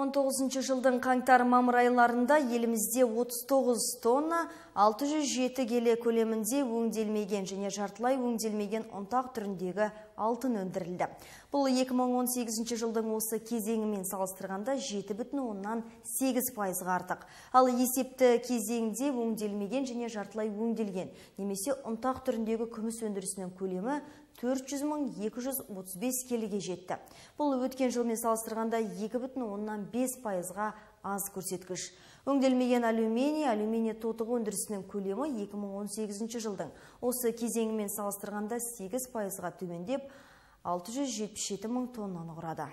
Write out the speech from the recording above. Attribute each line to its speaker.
Speaker 1: 2019 жылдың қаңтар-мамыр айларында елімізде 39 тонна 607 келі көлемінде өңделмеген және жартылай өңделмеген ұнтақ түріндегі алтын өндірілді. Бұл 2018 жылдың осы кезеңімен салыстырғанда 7,8% артық. Ал есепті кезеңде өңделмеген және жартылай өңделген немесе ұнтақ түріндегі күміс өндірісінің көлемі 400.235 келіге жетті. Бұл өткен жылмен салыстырғанда 2,5%-ға аз көрсеткіш. Өңделмеген алюминий тотығы өндірісінің көлемі 2018 жылдың осы кезеңімен салыстырғанда 8%-ға төмендеп 677 мың тоннаны құрады.